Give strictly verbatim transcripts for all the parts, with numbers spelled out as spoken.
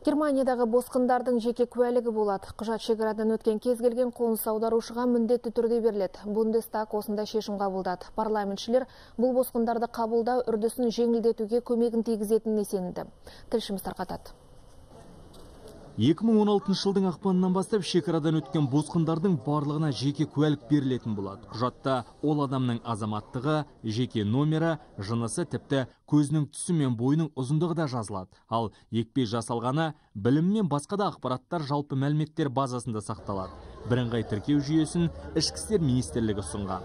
Германиядағы босқындардың жеке куәлігі болады. Құжат шекарадан өткен кез келген қоныс аударушыға міндетті түрде беріледі. Бундестаг осындай шешім қабылдады. Парламентшілер бұл босқындарды қабылдау үрдісін жеңілдетуге көмегін тигізетініне сенімді. Тілшіміз тарқатады. екі мың он алтыншы жылдың ақпанынан бастап шекарадан өткен босқындардың барлығына жеке куәлік берілетін болады. Құжатта ол адамның азаматтығы, жеке номері, жынысы, тіпті көзінің түсі мен бойының ұзындығы да жазылады. Ал екпе жасалғаны, білімі мен басқа да ақпараттар жалпы мәліметтер базасында сақталады. Бірыңғай тіркеу жүйесін ішкі істер министрлігі ұсынған.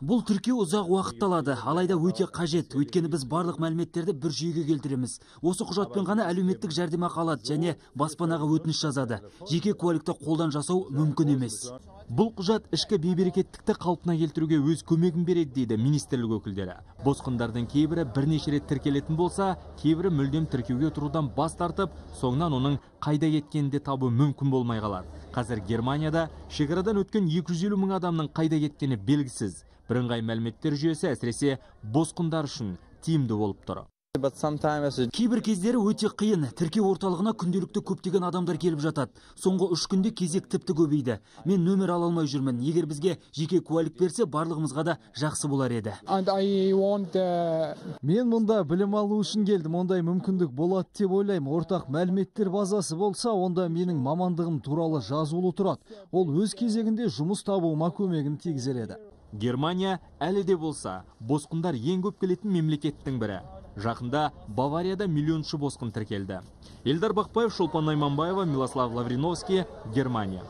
Бұл тіркеу ұзақ уақыт алады, алайда өте қажет, өйткені біз барлық мәліметтерді бір жүйеге келтіреміз. Осы құжатпен ғана әлеуметтік жәрдемақы алады және баспанаға өтініш жазады. Жеке куәлікті қолдан жасау мүмкін емес. Бұл құжат ішкі бейберекеттікті қалпына келтіруге өз көмегін береді дейді министрлік өкілдері. Босқындардың кейбірі бірнеше рет тіркелетін болса, кейбірі мүлдем тіркеуге тұрудан бас тартып, соңынан оның қайда кеткенін де табу мүмкін болмай қалады. Қазір Германияда шекарадан өткен екі жүз елу мың адамның қайда кеткені белгісіз. Бірыңғай мәліметтер жүйесі әсіресе босқындар үшін тиімді болып тұр. Кейбір кездері өте қиын. Тіркеу орталығына күнделікті көптеген адамдар келіп жатады. Соңғы үш күнде кезек тіпті көбейді. Мен нөмір ала алмай жүрмін. Егер бізге жеке куәлік берсе, барлығымызға да жақсы болар еді. Мен мұнда білім алу үшін келдім. Ондай мүмкіндік болады деп ойлаймын. Ортақ мәліметтер базасы болса, онда менің мамандығым туралы жазулы тұрады. Ол өз кезегінде жұмыс табуыма көмегін тигізер еді. Германия әлі де болса, босқындар ең көп келетін мемлекеттің бірі. Жақында Баварияда миллионшы босқын тіркелді. Эльдар Бақпаев, Шолпан Найманбаева, Милослав Лавриновский, Германия.